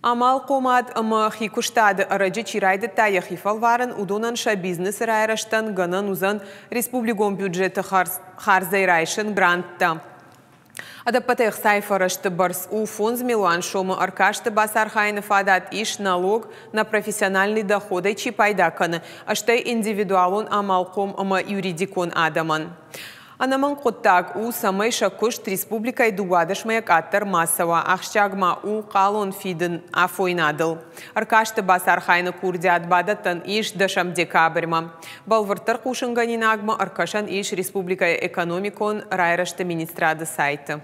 Амалхъомад ӕмӕ хикуыстады ӕрӕджы чи райдыдта йӕхи фӕлварын, уыдонӕн сӕ бизнесы райрӕзтӕн гӕнӕн уыдзӕн республикон бюджеты хардзӕй райсын гранттӕ. Ӕдӕппӕтӕй ӕхцайы фӕрӕзты бӕрц у 5 милуан сомы. Ӕркасты бацархайыны фадат ис, налог на профессиональный доход-ӕй чи пайда кӕны, стӕй индивидуалон амалхъом ӕмӕ юридикон адӕмӕн. Ӕнӕмӕнг хъуыддаг у, цӕмӕй сӕ куыст республикӕйы 12 мӕйӕ къаддӕр ма цӕуа. Ахсджиаг ма у хъалон фидын афойнадыл. Ӕркасты бацархайыны курдиат бадӕттӕн ис 10 декабрьмӕ. Бӕлвырддӕр хъусынгӕнинагмӕ ӕркӕсӕн ис республикӕйы экономикон райрӕзты министрады сайты.